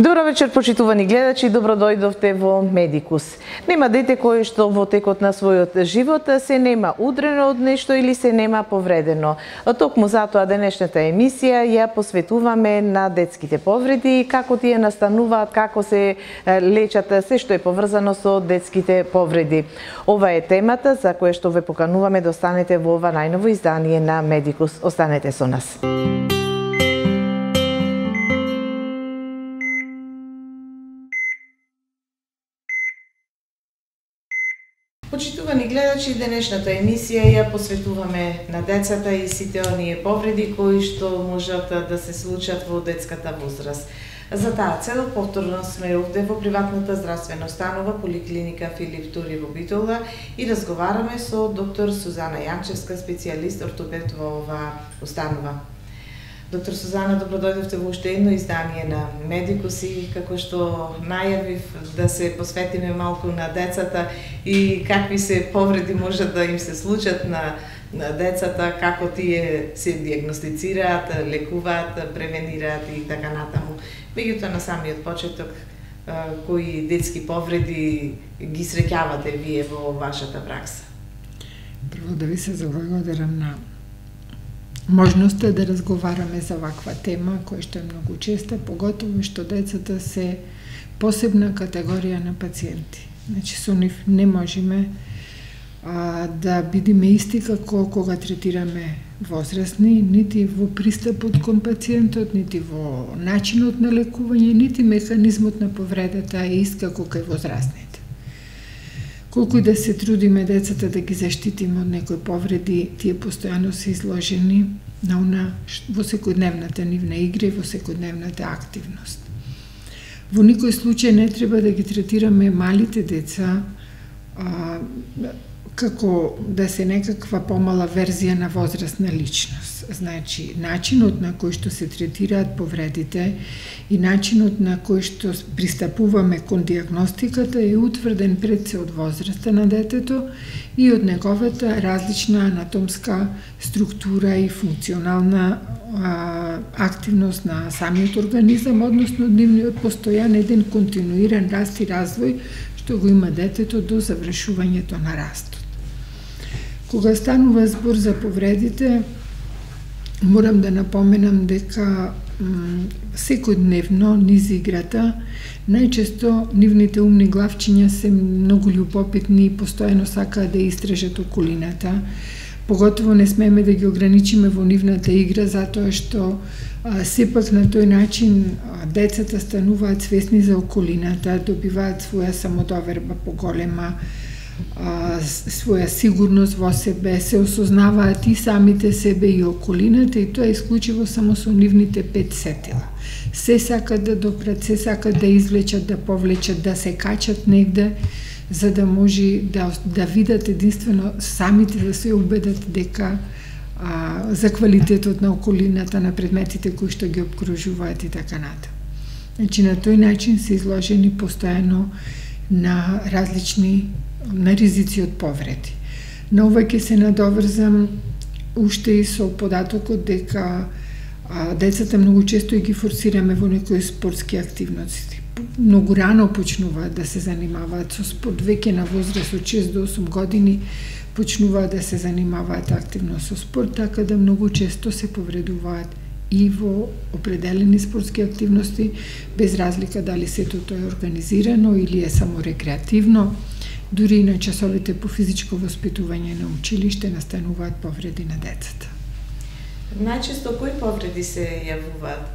Добро вечер, почитувани гледачи, добро дојдовте во Медикус. Нема дете кое што во текот на својот живот се нема удрено од нешто или се нема повредено. Токму затоа денешната емисија ја посветуваме на детските повреди, како тие настануваат, како се лечат, се што е поврзано со детските повреди. Ова е темата за која што ве покануваме да останете во ова најново издание на Медикус. Останете со нас. Почитувани гледачи, денешната емисија ја посветуваме на децата и сите оние повреди кои што можат да се случат во детската возраст. За таа цел повторно сме овде во приватната здравствена установа Поликлиника Филип Тури во Битола и разговараме со доктор Сузана Јанчевска, специјалист ортопед во оваа установа. Доктор Сузана, добро дојдовте во уште едно издание на Медикус и како што најавив да се посветиме малку на децата и какви се повреди можат да им се случат на децата, како тие се диагностицираат, лекуваат, превенираат и така натаму. Меѓутоа на самиот почеток, кои детски повреди ги среќавате вие во вашата пракса? Прво да ви се заблагодарам на можноста да разговараме за ваква тема, која што е многу честа, поготово што децата се посебна категорија на пациенти. Значи, со нив не можеме да бидеме исти како кога третираме возрастни, нити во пристапот кон пациентот, нити во начинот на лекување, нити механизмот на повредата е ист како кај возрастните. Колку и да се трудиме децата да ги заштитиме од некои повреди, тие постојано се изложени на во секојдневната нивна игра и во секојдневната активност. Во никој случај не треба да ги третираме малите деца како да се некаква помала верзија на возрастна личност. Значи, начинот на кој што се третираат повредите и начинот на кој што пристапуваме кон диагностиката е утврден пред се од возраста на детето и од неговата различна анатомска структура и функционална активност на самиот организам, односно нивниот постојан еден континуиран раст и развој што го има детето до завршувањето на растот. Кога станува збор за повредите, морам да напоменам дека секојдневно низ играта, најчесто нивните умни главчиња се многу љубопитни и постојано сакаат да истражат околината. Поготово не смееме да ги ограничиме во нивната игра, затоа што сепак на тој начин децата стануваат свесни за околината, добиваат своја самодоверба поголема, своја сигурност во себе, се осознаваат и самите себе и околината и тоа е исклучиво само со нивните 5 сетила. Се сакат да допрат, се сакат да извлечат, да повлечат, да се качат негде, за да може да видат единствено самите да се убедат дека за квалитетот на околината, на предметите кои што ги обкружуваат и така натаму. Значи на тој начин се изложени постојано на различни ризици од повреди. На ова ќе се надоврзам уште и со податокот дека децата многу често и ги форсираме во некои спортски активности. Многу рано почнуваат да се занимаваат со спорт, веќе на возраст од 6 до 8 години почнуваат да се занимаваат активно со спорт, така да многу често се повредуваат и во определени спортски активности, без разлика дали сето тоа е организирано или е само рекреативно. Дури и на часовите по физичко воспитување на училиште настануваат повреди на децата. Најчесто кои повреди се јавуваат?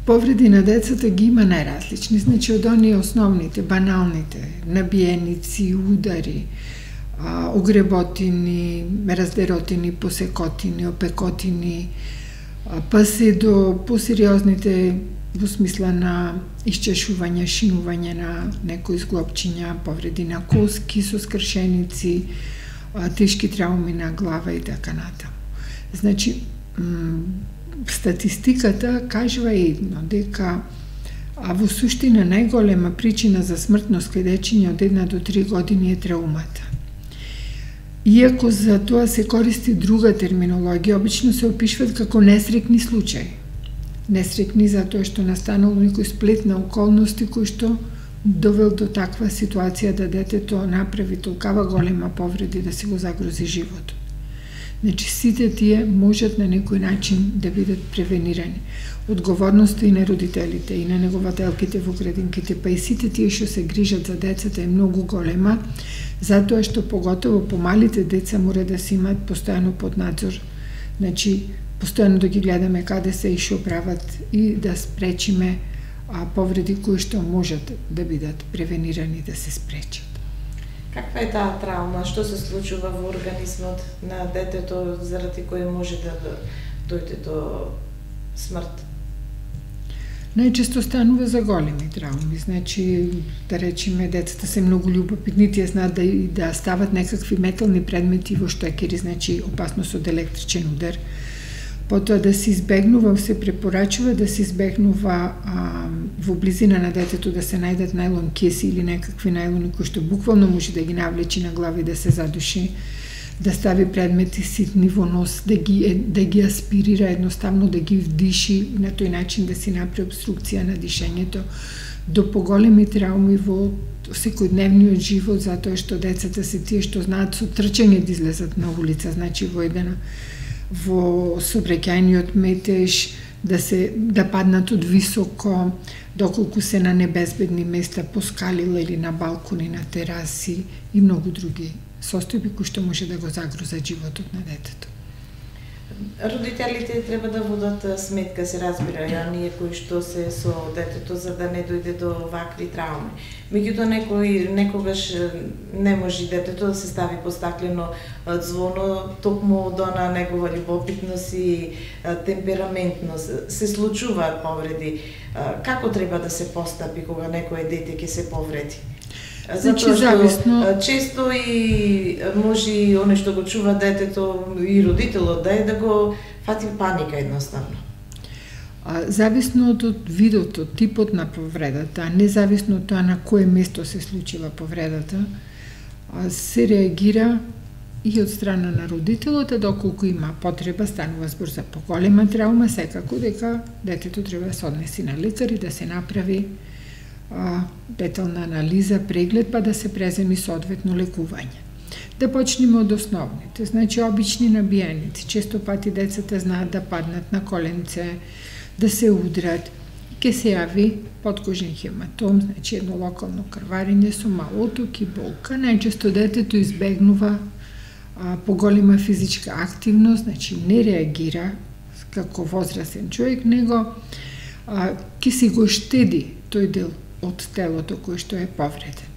Повреди на децата ги има најразлични, значи од оние основните, баналните, набиеници, удари, огреботини, раздеротини, посекотини, опекотини, па се до посериозните во смисла на исчешување, шинување на некои зглобчиња, повреди на коски со скршеници, тешки трауми на глава и така натаму. Значи, статистиката кажува едно, дека во суштина најголема причина за смртност кај дечиња од 1 до 3 години е траумата. Иако за тоа се користи друга терминологија, обично се опишуваат како несреќни случаи. несреќни затоа што настанал некој сплет на околности кој што довел до таква ситуација да детето направи толкава голема повреди да си го загрози животот. Значи, сите тие можат на некој начин да бидат превенирани. Одговорноста и на родителите, и на негователките во градинките, па и сите тие што се грижат за децата е многу голема, затоа што поготово помалите деца мора да се имаат постојано под надзор. Значи, постојано да ги гледаме каде се и што прават и да спречиме повреди кои што можат да бидат превенирани, да се спречат. Каква е таа травма? Што се случува во организмот на детето заради кој може да дојде до смрт? Најчесто станува за големи травми, значи, да речеме, децата се многу љубопитни, тие знаат да стават некакви метални предмети во штекери, значи опасност од електричен удар. Потоа да се избегнува, се препорачува да се избегнува во близина на детето да се најдат најлон кеси или некакви најлони кои што буквално може да ги навлечи на глава и да се задуши, да стави предмети ситни во нос, да ги аспирира, едноставно да ги вдиши, на тој начин да си направи обструкција на дишењето, до поголеми травми во секојдневниот живот, затоа што децата се тие што знаат со трчање да излезат на улица, значи во сообраќајниот метеж, да паднат од високо, доколку се на небезбедни места по скалила или на балкони, на тераси и многу други состојби кои што може да го загрозат животот на детето. Родителите треба да водат сметка, се разбира, оние кои што се со детето за да не дојде до вакви травми. Меѓутоа некогаш не може детето да се стави по стаклено ѕвоно, токму од она негова љубопитност и темпераментност. Се случуваат повреди. Како треба да се постапи кога некое дете ќе се повреди? Затоа што често и може и оне што го чува детето и родителот да го фати паника едноставно. Зависно од видот, од типот на повредата, независно од тоа на кое место се случила повредата, се реагира и од страна на родителот, доколку има потреба, станува збор за поголема травма, секако дека детето треба да се однеси на лекар и да се направи детална анализа, преглед, па да се преземи соодветно лекување. Да почнеме од основните, значи обични набиеници. Често пати децата знаат да паднат на коленце, да се удрат, ке се јави подкожен хематом, значи едно локално крварење со мал оток и болка. Најчесто детето избегнува поголема физичка активност, значи не реагира како возрастен човек, него ке си го штеди тој дел од телото кој што е повреден.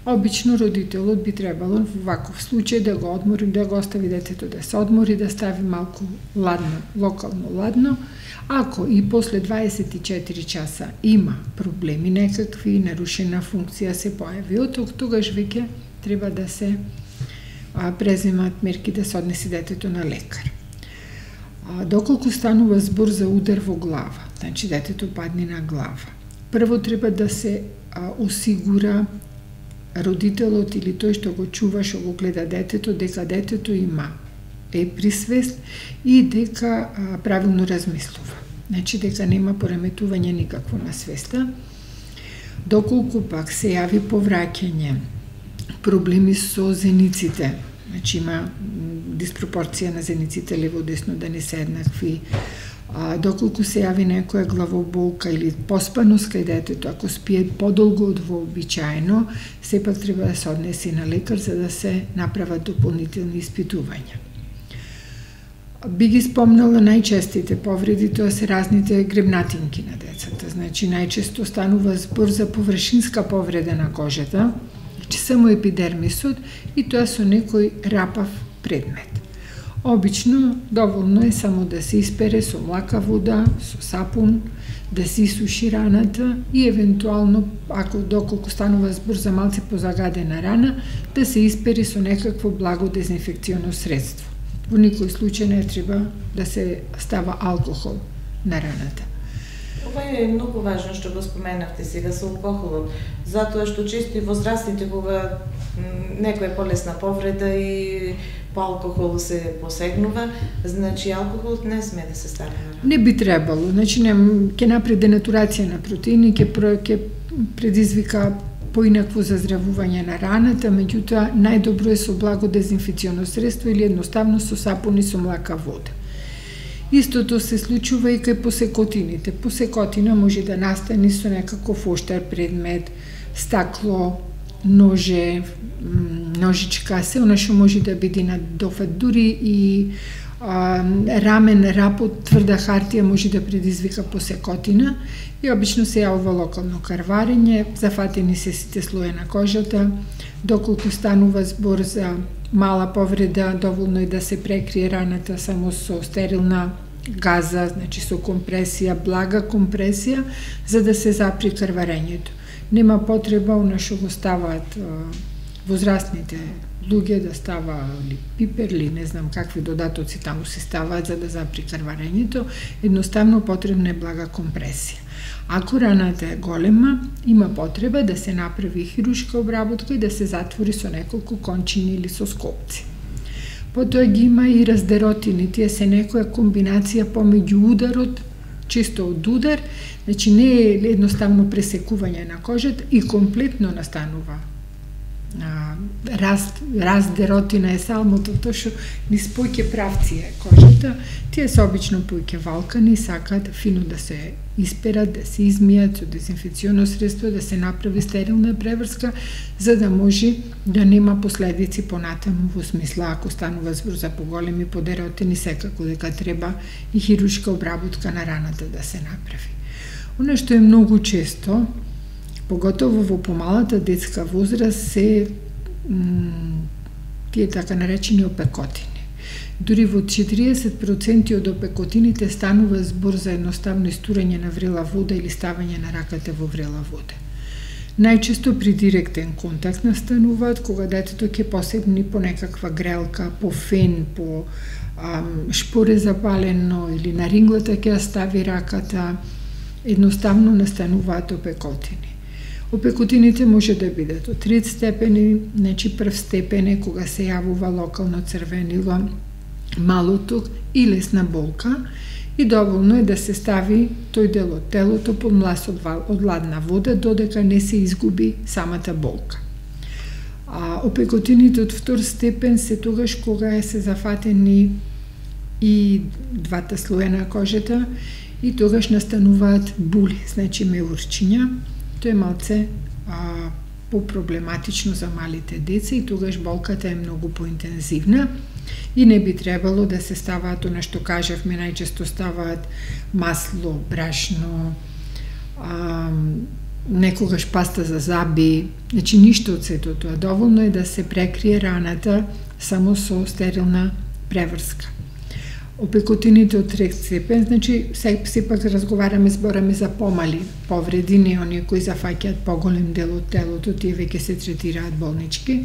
Обично родителот би требало во ваков случај да го одмори, да го остави детето да се одмори, да стави малку ладно, локално ладно. Ако и после 24 часа има проблеми некакви, нарушена функција се појави, тогаш веќе треба да се преземат мерки да се однеси детето на лекар. Доколку станува збор за удар во глава, значи детето падне на глава, прво треба да се осигура родителот или тој што го чува, што го гледа детето, дека детето е при свест и дека правилно размислува. Значи дека нема пореметување никакво на свеста. Доколку пак се јави повраќање, проблеми со зениците, значи има диспропорција на зениците лево-десно да не се еднакви, доколку се јави некоја главоболка или поспаност кај детето, ако спие подолго од вообичаено, сепак треба да се однеси на лекар за да се направат дополнителни испитувања. Би ги спомнала најчестите повреди, тоа се разните гребнатинки на децата. Значи најчесто станува збор за површинска повреда на кожата, значи само епидермисот и тоа со некој рапав предмет. Обично, доволно е само да се испере со млака вода, со сапун, да се исуши раната и евентуално, доколку станува збор за малце позагадена рана, да се испери со некакво благо дезинфекционо средство. Во никој случај не треба да се става алкохол на раната. Ова е многу важно што го споменавте сега со алкохолот, затоа што често и возрастните кога некоја полесна повреда и по алкохол се посегнува, значи алкохолот не сме да се стави на рана. Не би требало, значи ќе направи денатурација на протеини, ќе предизвика поинакво заздравување на раната, меѓутоа најдобро е со благо дезинфиционо средство или едноставно со сапун и со млака вода. Истото се случува и кај посекотините. Посекотина може да настане со некаков оштар предмет, стакло, ноже, ножичка, се она што може да биде на дофат, дури и рамен рап од тврда хартија може да предизвика посекотина и обично се јавува локално карварење, зафатени се сите слои на кожата, доколку станува збор за мала повреда, доволно е да се прекрие раната само со стерилна газа, значи со компресија, блага компресија, за да се запри крварењето. Нема потреба она што го ставаат возрастните луѓе да става ли пипер или не знам какви додатоци таму се ставаат за да запри крварењето, едноставно потребна е блага компресија. Ако раната е голема, има потреба да се направи хируршка обработка и да се затвори со неколку кончини или со скопци. Потоа ги има и раздеротини, тие се некоја комбинација помеѓу ударот, често од удар, значи не е едноставно пресекување на кожата и комплетно настанува раздеротина е салмото, тоа што низ поќе правци е кожата, тие се обично поќе валкани, сакаат фино да се исперат, да се измијат со дезинфекционо средство, да се направи стерилна преврска, за да може да нема последици понатаму, во смисла ако станува збор за поголеми подеротини, секако дека треба и хируршка обработка на раната да се направи. Оно што е многу често, поготово во помалата детска возраст, се тие така наречени опекотини. Дури во 40% од опекотините станува збор за едноставно истурање на врела вода или ставање на раката во врела вода. Најчесто при директен контакт настануваат кога детето ќе посебни по некаква грелка, по фен, по шпоре запалено или на ринглата ќе стави раката, едноставно настануваат опекотини. Опекотините може да бидат од 3 степени, значи прв степен е кога се јавува локално црвенило, малоток и лесна болка и доволно е да се стави тој дел од телото под млас од ладна вода додека не се изгуби самата болка. Опекотините од втор степен се тогаш кога се зафатени и двата слоја на кожата и тогаш настануваат були, значи меурчиња. Тоа е малце попроблематично за малите деца и тогаш болката е многу поинтензивна и не би требало да се ставаат она што кажавме, најчесто ставаат масло, брашно, некогаш паста за заби, значи ништо од сето тоа. Доволно е да се прекрие раната само со стерилна преврска. Опекотините од 3 степен, значи сепак разговараме, збораме за помали повреди, не оние кои зафаќаат поголем дел од телото, тие веќе се третираат болнички.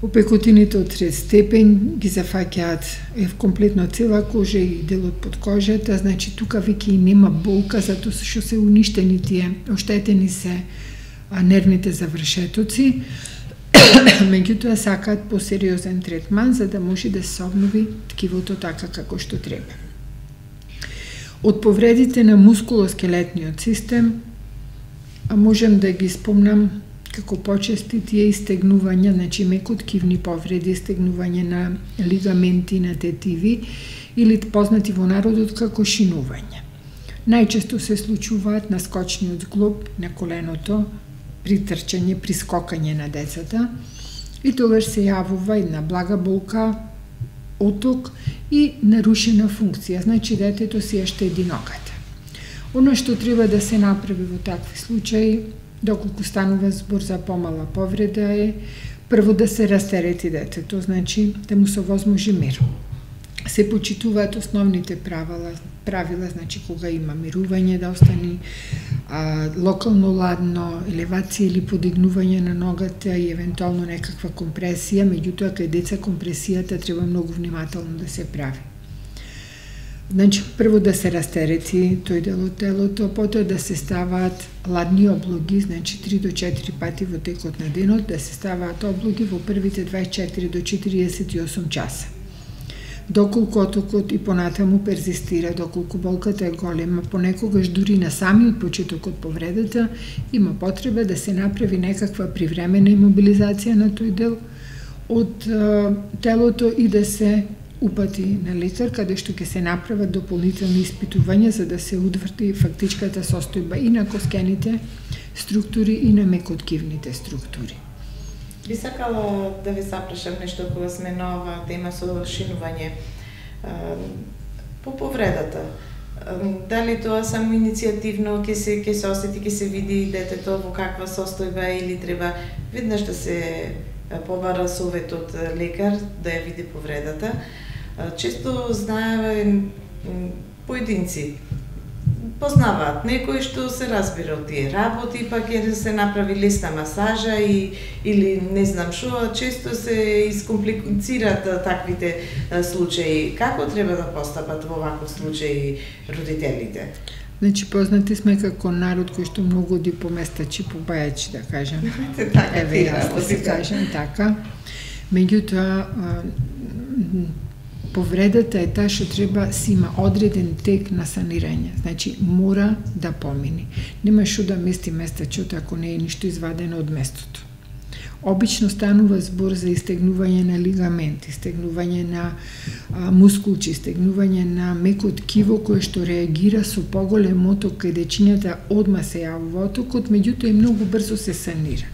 Опекотините од 3 степен ги зафаќаат комплетно цела кожа и делот под кожата, значи тука веќе и нема болка, затоа што се уништени тие, оштетени се нервните завршетоци. Меѓутоа сакаат посериозен третман за да може да се обнови ткивото така како што треба. Од повредите на мускулоскелетниот систем можем да ги спомнам како почести тие истегнувања, значи мекоткивни повреди, истегнување на лигаменти, на тетиви или познати во народот како шинување. Најчесто се случуваат на скочниот зглоб на коленото, при трчање, при скокање на децата и тогаш се јавува една блага болка, оток и нарушена функција, значи детето си ја штеди ногата. Оно што треба да се направи во такви случаи, доколку станува збор за помала повреда е прво да се растерети детето, значи да му се овозможи мир. Се почитуваат основните правила, значи кога има мирување да остани локално ладно, елевација или подигнување на ногата и евентуално некаква компресија, меѓутоа кај деца компресијата треба многу внимателно да се прави. Значи, прво да се растерети тој дел од телото, потоа да се ставаат ладни облоги, значи 3 до 4 пати во текот на денот, да се ставаат облоги во првите 24 до 48 часа. Доколку отокот и понатаму перзистира, доколку болката е голема, понекогаш дури на самиот почеток од повредата, има потреба да се направи некаква привремена имобилизација на тој дел од телото и да се упати на лекар, каде што ќе се направат дополнителни испитувања за да се утврди фактичката состојба и на коскените структури и на мекоткивните структури. Би сакала да ви запрашам нешто кога сме на оваа тема со шинување по повредата. Дали тоа само иницијативно ќе се осети, ќе се види детето во каква состојба или треба веднаш да се побара совет од лекар да ја види повредата. Често знаеме поединци познаваат некој што се разбира од тие работи, па ќе се направи лесна масажа или не знам што, често се искомплицираат таквите случаи. Како треба да постапат во ваков случај родителите? Значи, познати сме како народ кој што многу оди по местачи, по бајачи, да кажем. Еве, јас да се кажем така. Меѓутоа, повредата е таа што треба си има одреден тек на санирање. Значи, мора да помини. Нема што да мести местачот ако не е ништо извадено од местото. Обично станува збор за истегнување на лигаменти, истегнување на мускулчи, истегнување на меко ткиво кое што реагира со поголем оток кај дечињата одма се јавува отокот, меѓутоа и многу брзо се санира.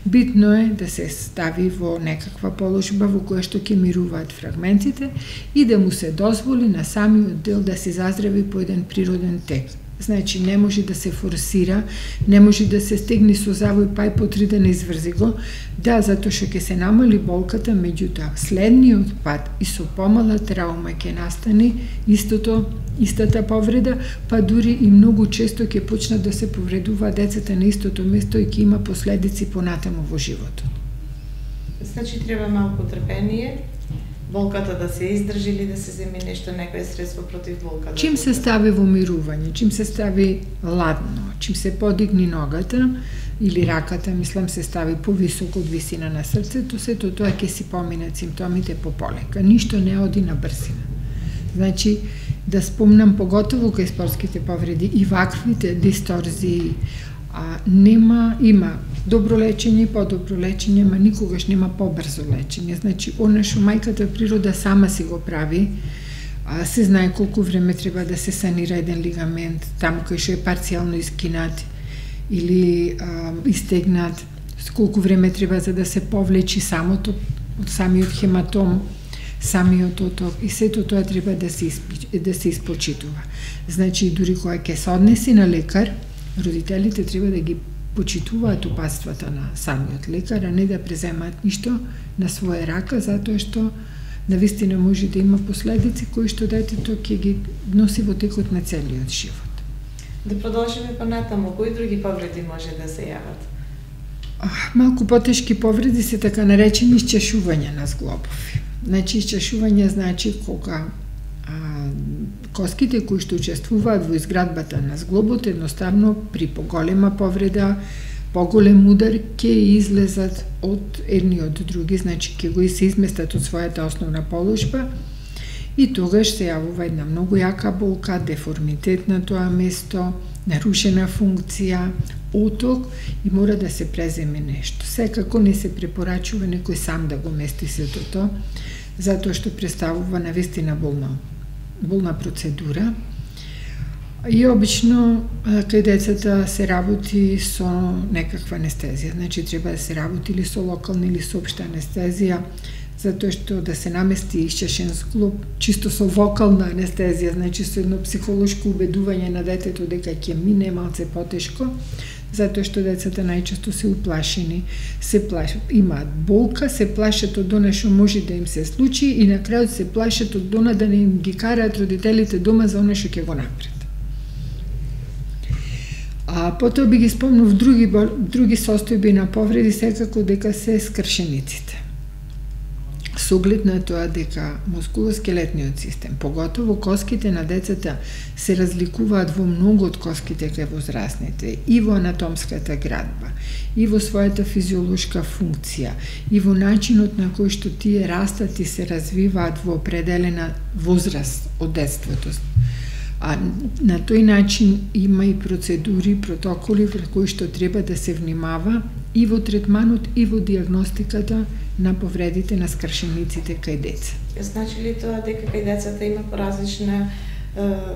Битно е да се стави во некаква положба во која што ќе мируваат фрагментите и да му се дозволи на самиот дел да се заздрави по еден природен тек. Значи, не може да се форсира, не може да се стегни со завој па и потри да не изврзи го. Да, затоа што ќе се намали болката, меѓутоа следниот пат и со помала траума ќе настане истата повреда, па дури и многу често ќе почнат да се повредуваат децата на истото место и ќе има последици понатаму во животот. Значи, треба малку трпение, болката да се издржи или да се земи нешто, некој средство против болката. Чим се стави во мирување, чим се стави ладно, чим се подигни ногата или раката, мислам се стави повисоко од висина на срцето, сето тоа ќе си поминат симптомите пополека. Ништо не оди на брзина. Значи, да спомнам поготово кај спортските повреди и ваквите дисторзии, има добро лечење и подобро лечење, ма никогаш нема побрзо лечење. Значи, она што мајката природа сама си го прави, се знае колку време треба да се санира еден лигамент, таму кај што е парцијално искинат или истегнат, колку време треба за да се повлечи самиот хематом, самиот оток, и сето тоа треба да се испочитува. Значи, дури кога ќе се однеси на лекар, родителите треба да ги почитуваат упатствата на самиот лекар, а не да преземаат ништо на своја рака, затоа што навистина може да има последици кои што детето ќе ги носи во текот на целиот живот. Да продолжиме понатаму, кои други повреди може да се јават? Малку потешки повреди се така наречени исчешување на зглобови. Значи, исчешување значи кога коските кои што учествуваат во изградбата на зглобот едноставно при поголема повреда, поголем удар ќе излезат од едни од други, значи ќе го се изместат од својата основна положба и тогаш се јавува една многу јака болка, деформитет на тоа место, нарушена функција, оток и мора да се преземе нешто. Секако не се препорачува некој сам да го мести сето тоа, затоа што представува навистина болна процедура. И обично кај децата се работи со некаква анестезија, значи треба да се работи или со локална или со општа анестезија, затоа што да се намести исчешен зглоб чисто со вокална анестезија, значи со едно психолошко убедување на детето дека ќе мине малце потешко, затоа што децата најчесто се уплашени, се плашат, имаат болка, се плашат од она што може да им се случи и на крајот се плашат од она да не им ги караат родителите дома за она што ќе го направат. Потоа би ги спомнав други состојби на повреди, секако дека се скршениците. Со оглед на тоа дека мускулоскелетниот систем, поготово коските на децата, се разликуваат во многу од коските кај возрастните, и во анатомската градба, и во својата физиолошка функција, и во начинот на кој што тие растат и се развиваат во определена возраст од детството. А на тој начин има и процедури, протоколи врз кои што треба да се внимава и во третманот и во диагностиката на повредите на скршениците кај деца. Значи ли тоа дека кај децата има поразлична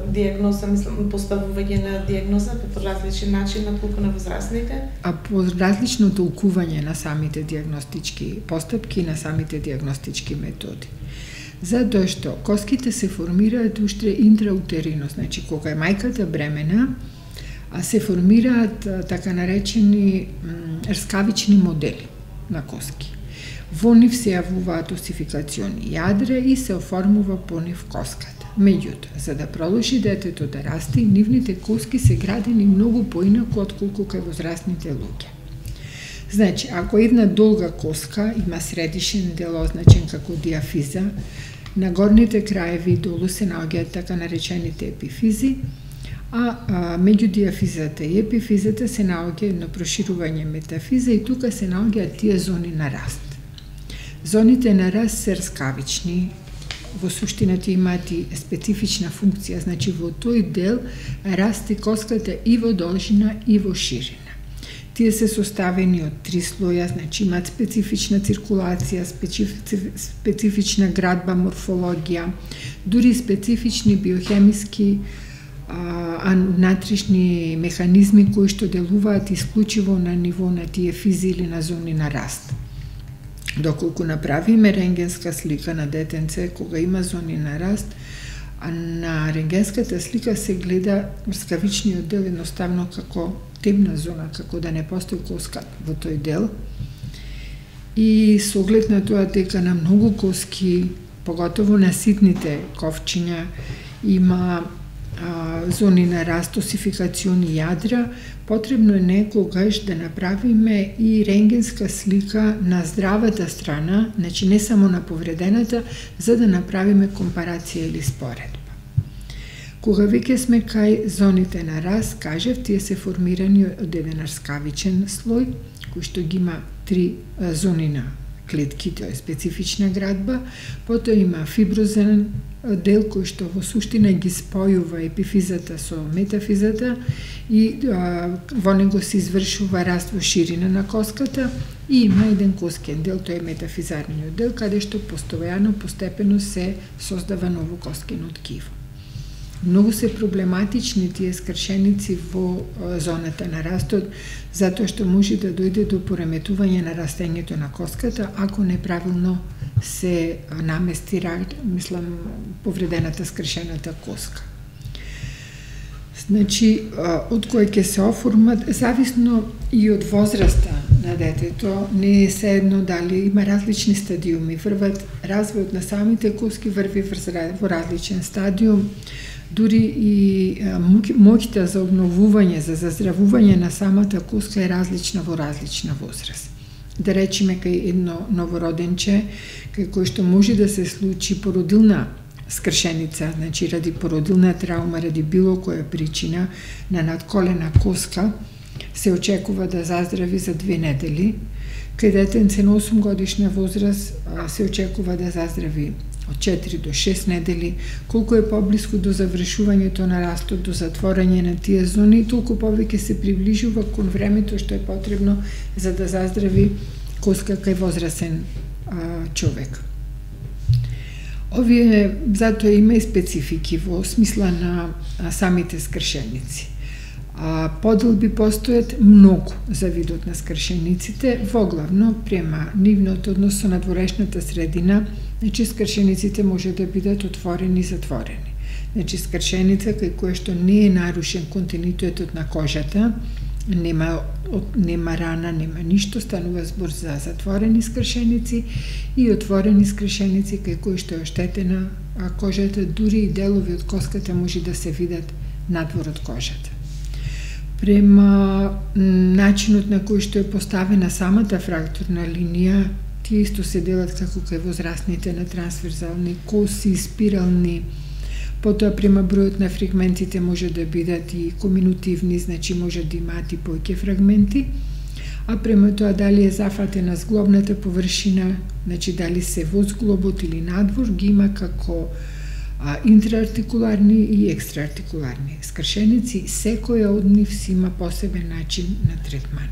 диагноза, поставување на диагнозата по различен начин отколку на возрастните? А по различно толкување на самите диагностички постапки и на самите диагностички методи. Затоа што коските се формираат уште интраутерино, значи кога е мајката бремена, а се формираат така наречени рскавични модели на коски. Во нив се јавуваат осификациони јадра и се оформува по нив коската. Меѓутоа, за да продолжи детето да расте, нивните коски се градени многу поинаку отколку кај возрастните луѓе. Значи, ако една долга коска има средишен дел означен како диафиза, на горните краеви долу се наоѓаат така наречените епифизи, а меѓу диафизата и епифизата се наоѓа едно проширување метафиза и тука се наоѓаат тие зони на раст. Зоните на раст се рскавични, во суштина тие имаат и специфична функција, значи во тој дел расти коската и во должина и во ширина. Тие се составени од 3 слоја, значи имаат специфична циркулација, специфична градба, морфологија, дури специфични биохемиски натришни механизми кои што делуваат исклучиво на ниво на тие физи или на зони на раст. Доколку направиме рентгенска слика на детенце кога има зони на раст, а на рентгенската слика се гледа рскавичниот дел едноставно како темна зона, како да не постои коска во тој дел. И со оглед на тоа дека на многу коски, поготово на ситните ковчиња, има зони на раст, осификациони јадра, потребно е некогаш да направиме и рентгенска слика на здравата страна, значи не само на повредената, за да направиме компарација или споредба. Кога веќе сме кај зоните на раст, кажев, тие се формирани од еден рскавичен слој, кој што ги има 3 зони на клетки, тоа е специфична градба, потоа има фиброзен дел кој што во суштина ги спојува епифизата со метафизата и во него се извршува раст во ширина на коската и има еден коскен дел, тој е метафизарниот дел, каде што постојано, постепено се создава ново коскено ткиво. Многу се проблематични тие скршеници во зоната на растот, затоа што може да дојде до пореметување на растењето на коската, ако неправилно се намести, повредената скршената коска. Значи, од кој ќе се оформат, зависно и од возраста на детето, не е седно дали има различни стадиуми, врват развојот на самите коски врви во различен стадиум, дури и моќта за обновување, за заздравување на самата коска е различна во различна возраст. Да речеме кај едно новороденче, кај кој што може да се случи породилна скршеница, значи ради породилна траума, ради било која причина на надколена коска, се очекува да заздрави за 2 недели. Кај детенце на 8 годишна возраст се очекува да заздрави од 4 до 6 недели. Колку е поблиску до завршувањето на растот, до затворање на тие зони, толку повеќе се приближува кон времето што е потребно за да заздрави коска кај возрасен човек. Овие затоа има и специфики во смисла на самите скршеници. Поделби постојат многу за видот на скршениците, воглавно према нивниот однос со надворешната средина. Значи, скршениците може да бидат отворени и затворени. Значи, скршеница кај која што не е нарушен континуитетот на кожата, нема рана, нема ништо, станува збор за затворени скршеници и отворени скршеници кај кои што е оштетена кожата, дури и делови од коската може да се видат надвор од кожата. Према начинот на кој што е поставена самата фрактурна линија, коски исто се делат како кај возрастните на трансверзални коси, спирални. Потоа према бројот на фрагментите може да бидат и коминутивни, значи може да имаат и повеќе фрагменти, а према тоа дали е зафатена зглобната површина, значи дали се во зглобот или надвор, ги има како интраартикуларни и екстраартикуларни скршеници. Секоја од нив си има посебен начин на третман.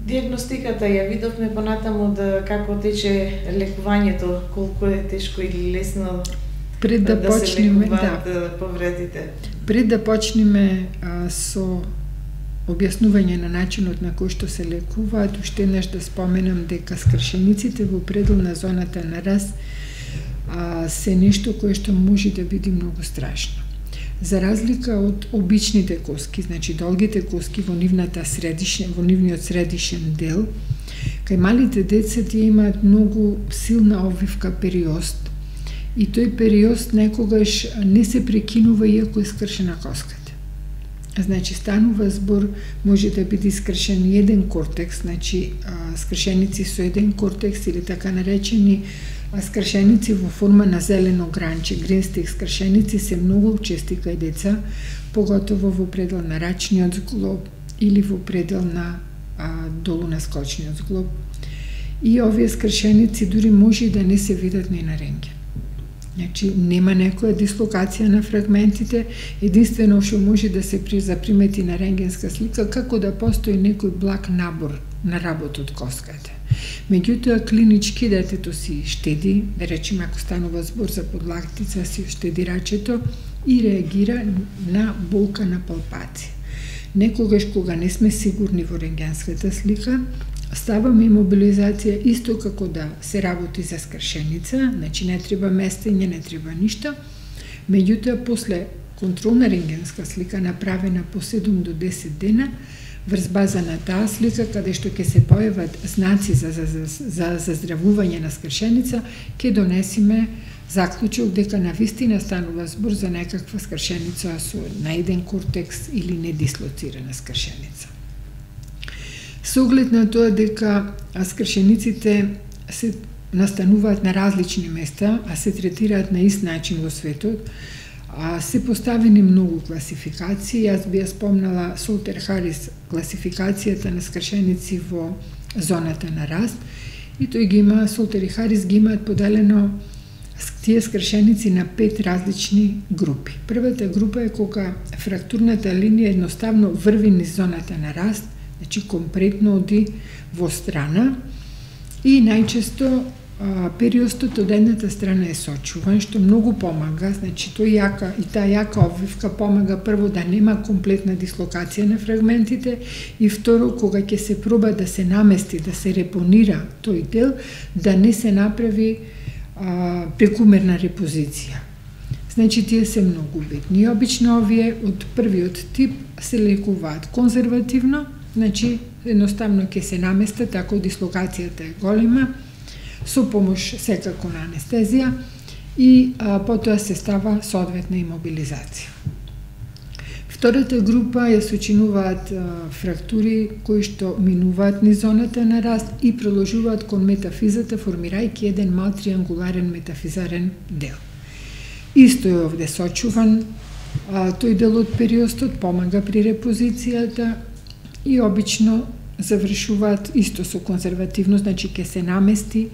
Диагностиката ја видовме понатаму да како тече лекувањето, колку е тешко или лесно пред да почнеме, се лекуваат повредите. Пред да почнеме со објаснување на начинот на кој што се лекуваат, уште еднаш да споменам дека скршениците во пределна зоната на раз се нешто кое што може да биде многу страшно. За разлика од обичните коски, значи долгите коски во нивниот средишен дел, кај малите деца тие имаат многу силна обвивка периост и тој периост некогаш не се прекинува иако е скршена коската. Значи станува збор, може да биде скршен еден кортекс, значи скршеници со еден кортекс или така наречени скршеници во форма на зелено гранче, гринстик скршеници се многу чести кај деца, поготово во предел на рачниот зглоб или во предел на долу на скочниот зглоб. И овие скршеници дури може да не се видат ни на рентген. Значи, нема некоја дислокација на фрагментите, единствено што може да се запримети на рентгенска слика, како да постои некој благ набор на работ од коската. Меѓутоа, клинички детето си штеди, да речеме ако станува збор за подлактица, си штеди рачето и реагира на болка на палпација. Некогаш кога не сме сигурни во рентгенската слика, ставаме имобилизација исто како да се работи за скршеница, значи не треба местење, не треба ништо. Меѓутоа, после контролна рентгенска слика направена по 7 до 10 дена, врз база на таа слика, каде што ќе се појават знаци за заздравување на скршеница, ќе донесиме заклучок дека навистина станува збор за некаква скршеница на еден кортекс или недислоцирана скршеница. Со оглед на тоа дека скршениците се настануваат на различни места, а се третираат на ист начин во светот, се поставени многу класификации. Јас би ја спомнала Солтер-Харис класификацијата на скршеници во зоната на раст, и тој ги има, Солтер и Харис ги имаат поделено тие скршеници на 5 различни групи. Првата група е кога фрактурната линија едноставно врви низ зоната на раст, значи компретно оди во страна, и најчесто периостот од едната страна е сочуван, што многу помага, значи таа јака обвивка помага прво да нема комплетна дислокација на фрагментите и второ, кога ќе се проба да се намести, да се репонира тој дел, да не се направи прекумерна репозиција. Значи, тие се многу битни. Обично овие од првиот тип се лекуваат конзервативно, значи едноставно ќе се наместат ако дислокацијата е голема, со помош секако на анестезија и потоа се става соодветна имобилизација. Втората група ја сочинуваат фрактури кои што минуваат низ зоната на раст и продолжуваат кон метафизата, формирајќи еден мал триангуларен метафизарен дел. Исто е овде сочуван, тој дел од периостот помага при репозицијата и обично завршуваат исто со конзервативно, значи ќе се намести,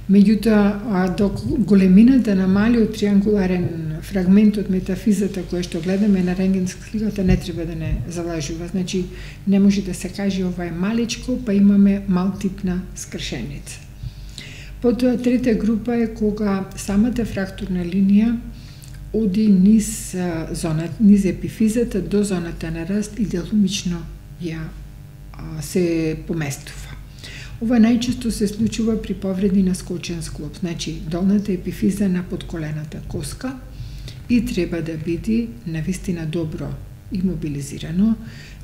меѓутоа до големината на малиот триангуларен фрагмент од метафизата кој што гледаме на рентгенска сликата не треба да не залажува, значи не може да се каже ова е маличко, па имаме малтипна скршеница. Потоа трета група е кога самата фрактурна линија оди низ епифизата до зоната на раст и делумично ја се поместува. Ова најчесто се случува при повреди на скочен зглоб, значи долната епифиза на подколената коска и треба да биде навистина добро имобилизирано,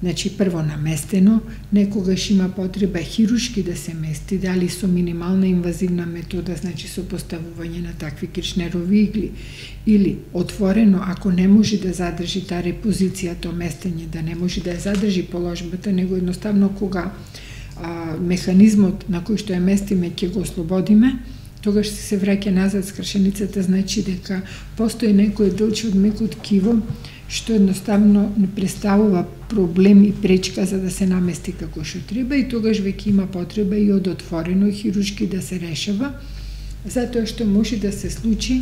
значи прво наместено, некогаш има потреба хирушки да се мести, дали со минимална инвазивна метода, значи со поставување на такви киршнерови игли, или отворено, ако не може да задржи таа репозиција, то местење, да не може да ја задржи положбата, него едноставно кога механизмот на кој што ја местиме ќе го ослободиме, тогаш се враќа назад скршеницата, значи дека постои некој делче од меко ткиво што едноставно не представува проблем и пречка за да се намести како што треба и тогаш веќе има потреба и од отворено хируршки да се решава, затоа што може да се случи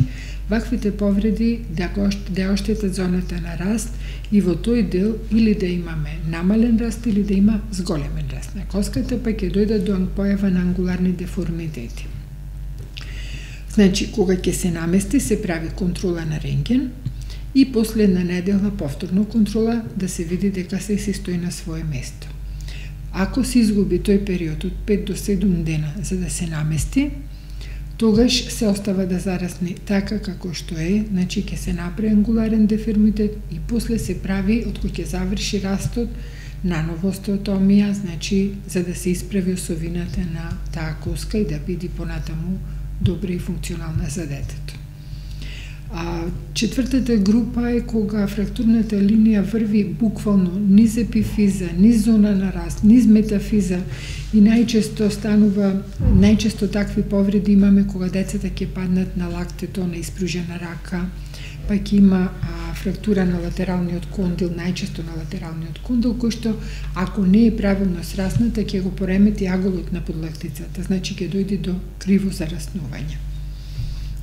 ваквите повреди да оштетат зоната на раст и во тој дел или да имаме намален раст или да има зголемен раст на коската, па ќе дојдат до појава на ангуларни деформитети. Значи, кога ќе се намести, се прави контрола на рентген и после една недела повторно контрола да се види дека се стои на свое место. Ако се изгуби тој период од 5 до 7 дена за да се намести, тогаш се остава да зарасне така како што е, значи ќе се направи ангуларен деформитет и после се прави, откој ќе заврши растот, наново остеотомија, значи за да се исправи осовината на таа коска и да биде понатаму добра и функционална за детето. Четвртата група е кога фрактурната линија врви буквално низ епифиза, низ зона на раст, низ метафиза и најчесто такви повреди имаме кога децата ќе паднат на лактето, на испружена рака, па ќе има фрактура на латералниот кондил, најчесто на латералниот кондил, кој што ако не е правилно срасната ќе го поремети аголот на подлактицата, значи ќе дојде до криво зараснување.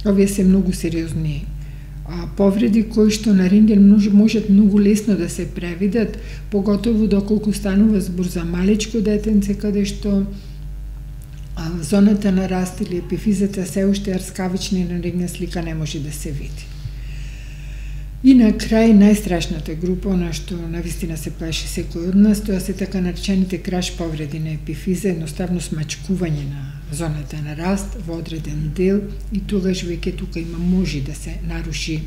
Овие се многу сериозни повреди кои што на рентген можат многу лесно да се превидат, поготово доколку станува збор за малечко детенце каде што зоната на раст или епифизата се уште арскавична и на рентген слика не може да се види. И на крај најстрашната група, на што навистина се плаши секој од нас, тоа се така наречените краш повреди на епифиза, едноставно смачкување на зоната на раст во одреден дел и тогаш веќе тука може да се наруши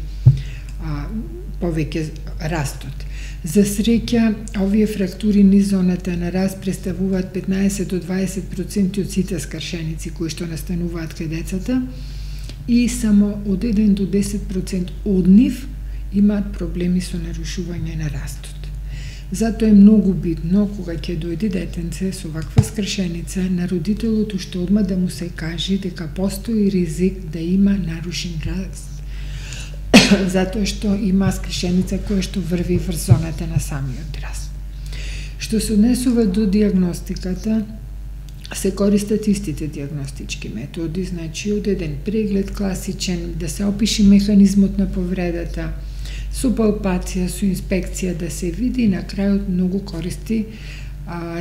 повеќе растот. За среќа, овие фрактури низ зоната на раст представуваат 15 до 20% од сите скршеници кои што настануваат кај децата и само од 1 до 10% од нив имаат проблеми со нарушување на растот. Затоа е многу битно кога ќе дојде детенце со ваква скршеница на родителот уште одма да му се каже дека постои ризик да има нарушен раст, затоа што има скршеница која што врви врз зоната на самиот раст. Што се однесува до диагностиката, се користат истите диагностички методи, значи од еден преглед класичен, да се опише механизмот на повредата, со палпација, со инспекција да се види и на крајот многу користи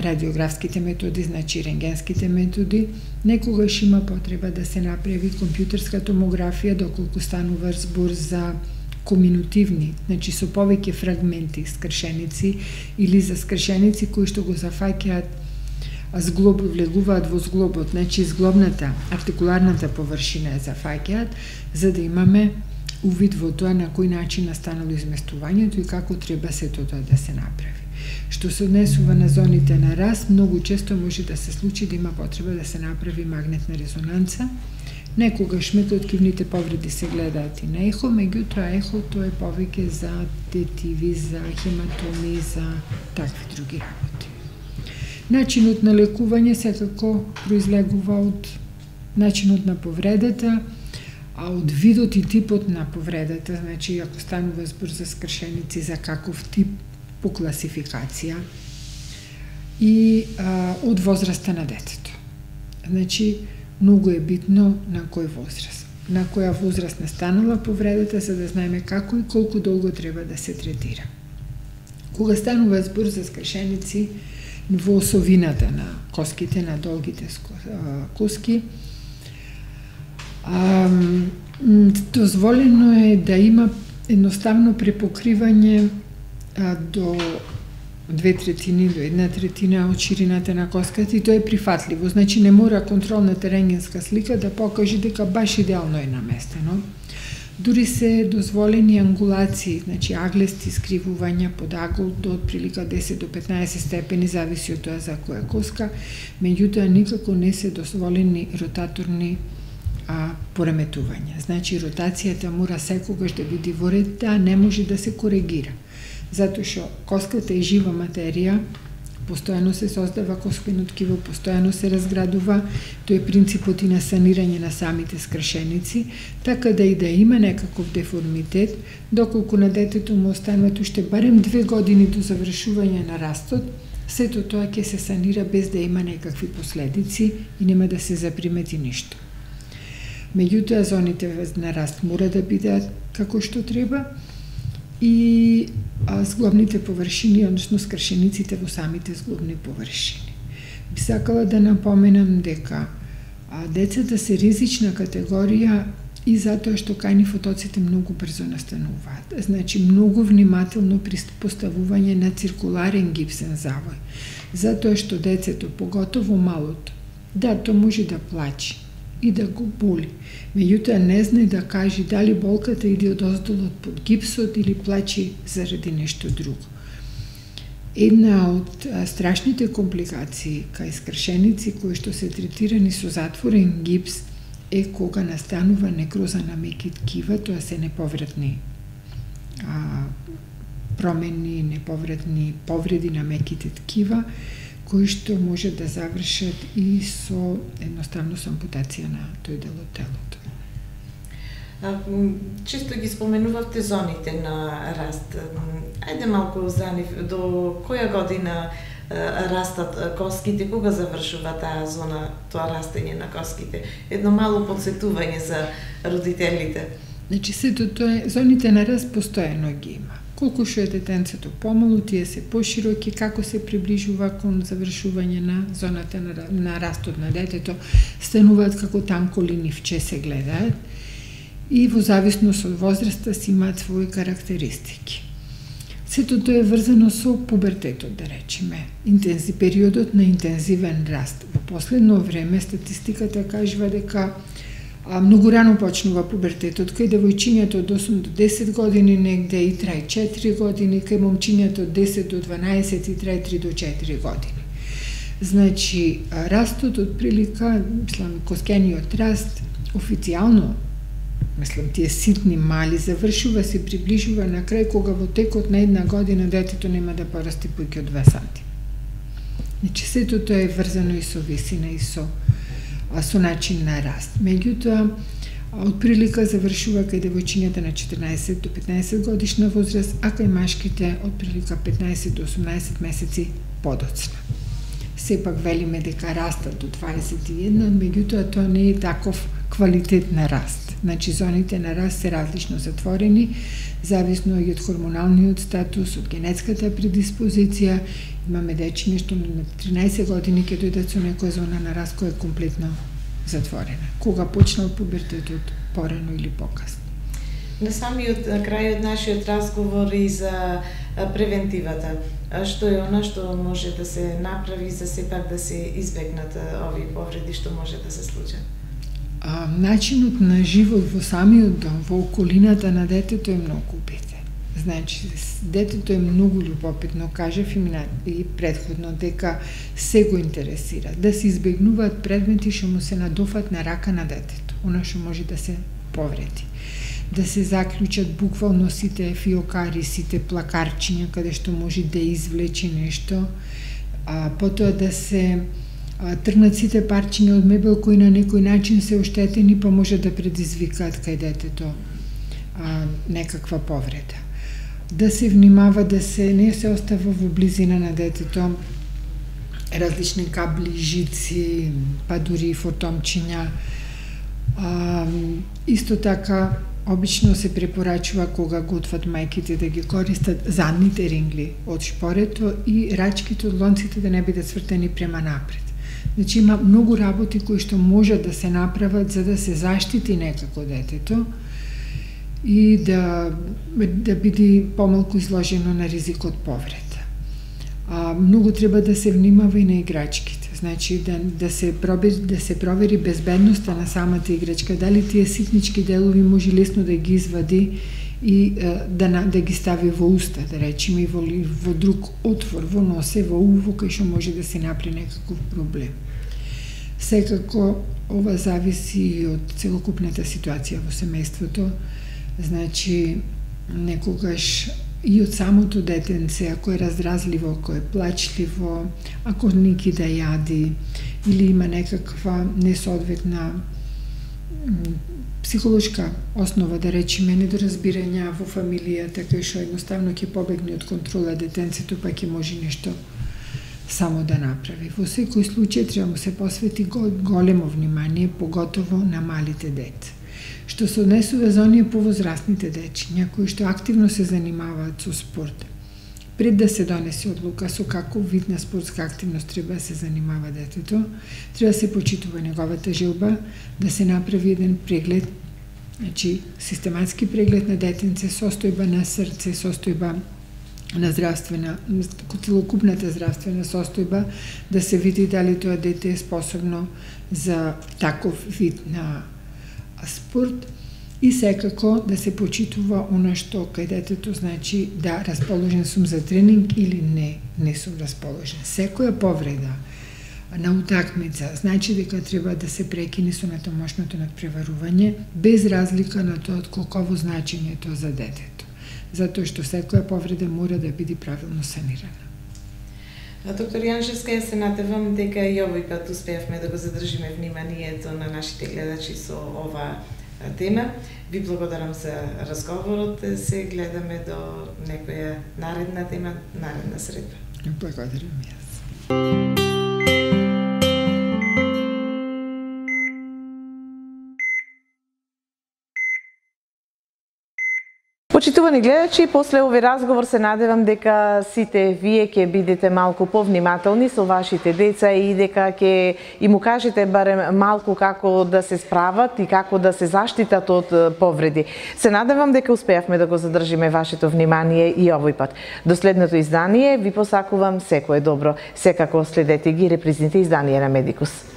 радиографските методи, значи рентгенските методи. Некогаш има потреба да се направи компјутерска томографија доколку станува збор за коминутивни, значи со повеќе фрагменти скршеници или за скршеници кои што го зафаќаат зглоб, влегуваат во зглобот, значи зглобната, артикуларната површина ја зафаќаат, за да имаме увид во тоа на кој начин настанало изместувањето и како треба сето тоа да се направи. Што се однесува на зоните на раст, многу често може да се случи да има потреба да се направи магнетна резонанца. Некогаш метоткивните повреди се гледаат и на ехо, меѓутоа ехо тоа е повеќе за тетиви, за хематоми, за такви други работи. Начинот на лекување секако произлегува од начинот на повредата, а од видот и типот на повредата, значи ако станува збор за скршеници, за каков тип по класификација и од возраста на детето. Значи, многу е битно на кој возраст. На која возраст настанала повредата, за да знаеме како и колку долго треба да се третира. Кога станува збор за скршеници во осовината на коските, на долгите коски, дозволено е да има едноставно препокривање до 2/3 до 1/3 од ширината на коската и тоа е прифатливо. Значи не мора контролната рентгенска слика да покаже дека баш идеално е наместено. Дури се дозволени ангулации, значи аглести скривувања под агол до отприлика 10 до 15 степени, зависи од тоа за која коска, меѓутоа никако не се дозволени ротаторни пореметувања. Значи ротацијата мора секогаш да биде во ред, не може да се коригира. Затоа што коската е жива материја, постојано се создава коскено ткиво, постојано се разградува, тој е принципот и на санирање на самите скршеници, така да и да има некаков деформитет, доколку на детето му остануваат уште барем 2 години до завршување на растот, сето тоа ќе се санира без да има некакви последици и нема да се запримети ништо. Меѓутоа, зоните на раст мора да бидат како што треба и зглобните површини, односно скршениците во самите зглобни површини. Би сакала да напоменам дека децата се ризична категорија и затоа што кај нив отоците многу брзо настануваат. Значи, многу внимателно при поставување на циркуларен гипсен завој. Затоа што децето, поготово малото, да, то може да плаче и да го боли. Меѓутоа не знае да каже дали болката иде од оздолот под гипсот или плаче заради нешто друго. Една од страшните компликации кај скршеници кои што се третирани со затворен гипс е кога настанува некроза на меки ткива, тоа се неповратни промени, неповратни повреди на меките ткива, кои што може да завршат и со едноставно со ампутација на тој дел од телото. Често ги споменувавте зоните на раст. Ајде малку за нив, до која година растат коските, кога завршува таа зона, тоа растење на коските? Едно мало подсетување за родителите. Значи, сето тоа, зоните на раст постојано ги има. Колку што е детенцето помало, тие се пошироки, како се приближува кон завршување на зоната на растот на детето, стануваат како танко ливче се гледаат и во зависност од возраста си имаат своји карактеристики. Сето тоа е врзано со пубертетот, да речеме, периодот на интензивен раст. Во последно време статистиката кажува дека многу рано почнува пубертетот, кај девојчињата од 8 до 10 години негде и трае 4 години, кај момчињата од 10 до 12 и трае 3 до 4 години. Значи, растот од прилика, коскениот раст, официјално, тие ситни мали, завршува се, приближува на крај, кога во текот на една година детето нема да порасти поиќе од 2 санти. Значи, сето тоа е врзано и со висина и со начин на раст. Меѓутоа, од прилика завршува кај девојчињата на 14 до 15 годишна возраст, а кај машките од прилика 15 до 18 месеци подоцна. Сепак велиме дека растат до 21, меѓутоа тоа не е таков квалитет на раст. Значи, зоните на раст се различно затворени, зависно и од хормоналниот статус, од генетската предиспозиција. Имаме дечиња што на 13 години ќе дојдат со некоја зона на раст која е комплетно затворена. Кога почнал пубертетот, порано или покасно. На самиот крај од нашиот разговор и за превентивата. Што е она што може да се направи за сепак да се избегнат овие повреди што може да се случат? Начинот на живот во самиот дом, во околината на детето е многу битен. Значи, детето е многу љубопитно, кажав и предходно, дека се го интересира. Да се избегнуваат предмети што му се надофат на рака на детето, она што може да се повреди. Да се заклучат буквално сите фиокари, сите плакарчиња, каде што може да извлече нешто, потоа да се тргнат сите парчиња од мебел кои на некој начин се оштетени, па може да предизвикаат кај детето некаква повреда. Да се внимава да се не се остава во близина на детето различни кабли, жици, па дури и фотомчиња. Исто така, обично се препорачува кога готват мајките да ги користат задните рингли од шпорето и рачките од лонците да не бидат свртени према напред. Значи, има многу работи кои што може да се направат за да се заштити некако детето и да биде помалку изложено на ризик од повреда. Многу треба да се внимава и на играчките. Значи, да се провери безбедноста на самата играчка, дали тие ситнички делови може лесно да ги извади и да ги стави во уста, да речеме, и во друг отвор, во носе, во уво, кај што може да се направи некаков проблем. Секако, ова зависи од целокупната ситуација во семејството. Значи, некогаш и од самото детенце, ако е раздразливо, ако е плачливо, ако не ги да јади или има некаква несоодветна психолошка основа, да речеме, недоразбирања во фамилијата, кај што едноставно ќе побегне од контрола детенцето, па ќе може нешто само да направи. Во секој случај треба му се посвети големо внимание, поготово на малите деца. Што се однесува за оние повозрастните дечи, някои што активно се занимаваат со спорт. Пред да се донесе одлука со каков вид на спортска активност треба да се занимава детето, треба да се почитува неговата желба, да се направи еден преглед, значи систематски преглед на детенце, состојба на срце, состојба на здравствена, целокупната здравствена состојба, да се види дали тоа дете е способно за таков вид на спорт и секако да се почитува она што кај детето значи да расположен сум за тренинг или не сум расположен. Секоја повреда на утакмица значи дека треба да се прекине со натамошното надпреварување без разлика на тоа од колково значење е тоа за детето. Затоа што секоја повреда мора да биде правилно санирана. Доктор Јаншевска, ја се надевам дека и овој пат успеавме да го задржиме вниманието на нашите гледачи со оваа тема. Ви благодарам за разговорот. Се гледаме до некоја наредна тема, наредна средба. Благодарам јас. Почитувани гледачи, после овој разговор се надевам дека сите вие ќе бидете малку повнимателни со вашите деца и дека ќе им укажете барем малку како да се справат и како да се заштитат од повреди. Се надевам дека успеавме да го задржиме вашето внимание и овој пат. До следното издание ви посакувам секое добро. Секако следете ги репризните изданија на Медикус.